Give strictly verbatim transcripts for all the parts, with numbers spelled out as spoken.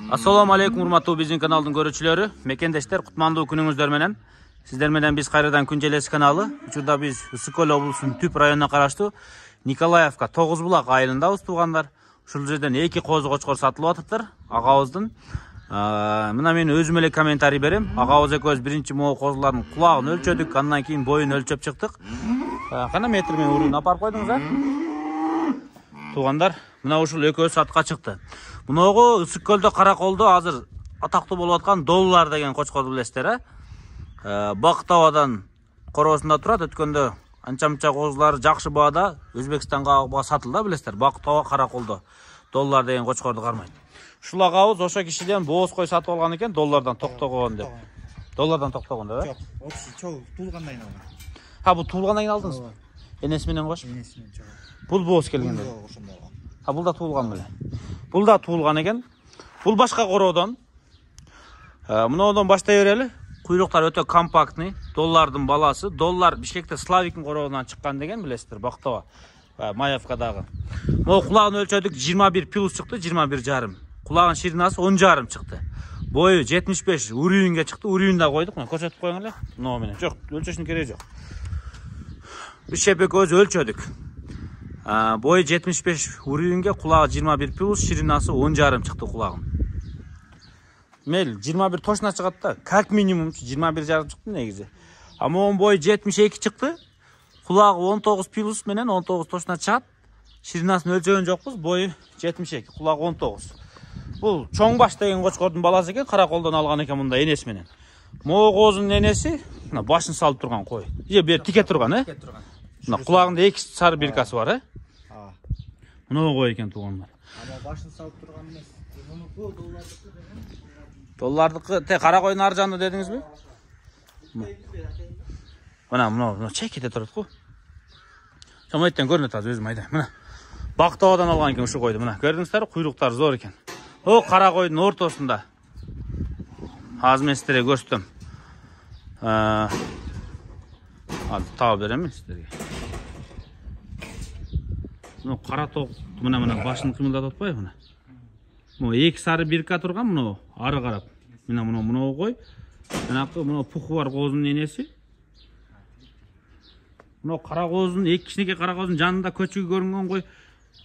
Assalamu alaikum урматтуу биздин каналдын көрүүчүлөрү, мекендештер, кутмандуу күнүңүздөр менен. Сиздер менен биз кайрадан Күн желеси каналы. Учурда биз Ысык көл облусунун Түп районуна караштуу Николаевка тогуз булак айылындабыз туугандар. Ушул жерден эки козу кочкор сатылып атыптыр. Агабыздын мына мен өзүм эле комментарий берем. Агабыз экөөбүз биринчи могу козулардын кулагын өлчөдүк, андан кийин боюн өлчөп чыктык. Кана метр менен урун апарып койдуңуз а? Туугандар, мына ушул экөөсү сатка чыкты. Муногу Ысык көлдө Караколдо азыр атактуу болуп аткан доллар деген кочкорду билесиздер, э? Бактабадан короосунда турат. Өткөндө анча-мынча козулар жакшы баада Өзбекстанга сатылды, билесиздер. Бактаба Караколдо доллар деген кочкорду кармайт. Ушул агабыз ошо кишиден бооз кой сатып алган экен, доллардан токтогон деп. Доллардан токтогон деп, э? Жок, чоң туулгандан кийин алган. Ха, бул туулгандан кийин алдыңызбы? Энеси менен кош. Энеси менен чоң. Бул бооз келген. Ha, бул да туулган беле. Бул да туулган экен. Бул башка короодон. Мынодон баштай берели. Куйруктар өтө компактный. Доллардын баласы. Доллар Бишкекте Славиктин короодунан чыккан деген билесиздер, Бактаба, Маевкадагы. Могу кулагын өлчөдүк, жыйырма бир плюс чыкты, жыйырма бир жарым. Кулагын ширинасы он жарым чыкты. Бою жетимиш беш, урүүнгө чыкты. Урүүнү да койдук. Мына көрсөтүп коюң эле. Мына менен. Жок, өлчөшүнүн кереги жок. Биз шепек өзү өлчөдүк. Бою жетимиш беш, урүүнгө, кулагы жыйырма бир плюс, ширинасы он жарым чыкты кулагын. Мел жыйырма бир точно чыгат да. Как минимум жыйырма бир жарым чыкты негизи. А могун бою жетимиш эки чыкты. Кулагы он тогуз плюс менен он тогуз точно чыгат. Ширинасын өлчөгөн жокпуз. Бою жетимиш эки, кулагы он тогуз. Бул чоң баш деген кочкордун баласы экен, Караколдон алган экен мында энеси менен. Могу козунун энеси мына башын салып турган кой. Же бер тике турган, э? Тике турган. Мына кулагында эки сары биркасы бар, э? А. Мына кой экен туугандар. Ама башын салып турган эмес. Мунуку доллардыкы деген. Доллардыкы те кара койдун ар жанында дедиңизби? Мына мына чекеде турат го. Чамайттан көрүнөт азыр өзүм айдайм. Мына Бактабадан алган экен ушу койду. Мына көрдүңүздөр, куйруктар зор экен. О, кара койдун ортосунда. Азыр мен сиздерге көрсөтөм. Ал таап берем сиздерге. Мына кара ток мына мына башын кыймылдатып атпайбы мына. Мына эки сары бирка турган мына ары карап. Мына мына мына кой. Жанакы мына пуху бар козунун энеси. Мына кара козунун эки кичинекей кара козунун жанында көчүгү көрүнгөн кой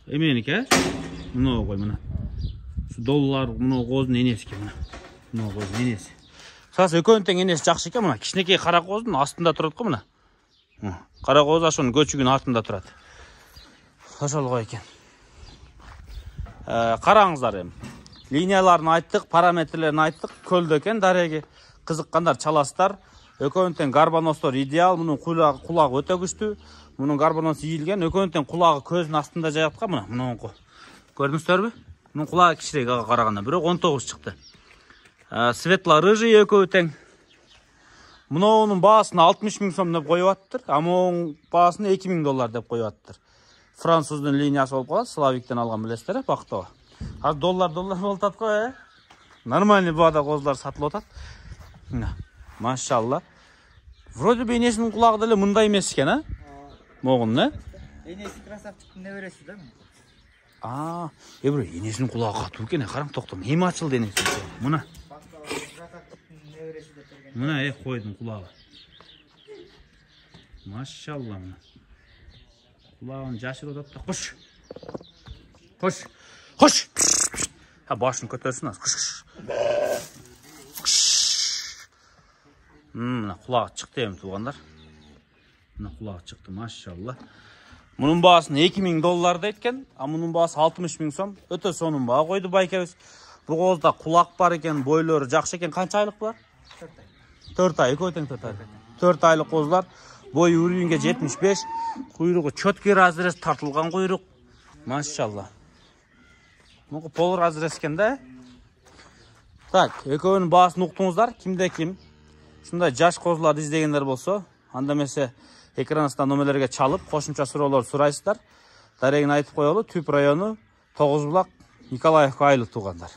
эменики, э? Мына кой мына. Şu dollar мына козунун энеси экен мына. Мына козунун энеси. Сас экөөнүн тең энеси жакшы экен мына. Кичинекей кара козунун астында турат го мына. Кара коз ошонун көчүгүнүн артында турат. Ошол кой экен. Караңыздар эми. Линияларын айттык, параметрлерин айттык. Көлдө экен дареги. Кызыккандар чаласыздар. Экөөнүн тең гарбаностор идеал. Мунун кулагы өтө күчтүү. Мунун гарбаносу ийилген. Экөөнүн тең кулагы көзүнүн астында жайгаткан мына. Мунунку. Көрдүңүздөрбү? Мунун кулагы кичирээк ага караганда. Бирок он тогуз чыкты. Светло-рыжий экөө тең. Мунун баасын алтымыш миң сом деп коюп атыптыр. А мунун баасын эки миң доллар деп коюп атыптыр. Француздун линиясы болуп калат, Славиктен алган билесиздер, Бактаба. Азыр доллар доллар болуп атат го, э? Нормальный баада козулар сатылып атат. Мына, машалла. Вроде бы энесинин кулагы деле мындай эмес экен, а? Могун, э? Энеси красавчиктин небереси да. А, э бир энесинин кулагы катуу экен, караң токтом. Эми ачылды энеси. Мына. Мына э койдун кулагы. Машалла мына. Кулагын жашырып атат да. Кош. Кош. Кош. Ha башын көтөрсүн аз. Кош. Мына кулагы чыкты эми туугандар. Мына кулагы чыкты, машалла. Мунун баасын эки миң доллар дейт экен, а мунун баасы алтымыш миң сом. Өтө сонун баа койду байкебиз. Бул козда кулак бар экен, бойлору жакшы экен. Канча айлык булар? төрт ай, экөө тең төрт ай. төрт айлык козулар. Бою урүүнгө жетимиш беш, куйругу чөткө разрез тартылган куйрук. Машалла. Муну пол разрез экен да. Так, экөөнүн баасын уктуңуздар, кимде ким ушундай жаш козуларды издегендер болсо, анда эмесе экраныңыздан номерлерге чалып, кошумча суроолор сурайсыздар. Дарегин айтып коелу, Түп району, тогуз булак, Николаевка айылы туугандар.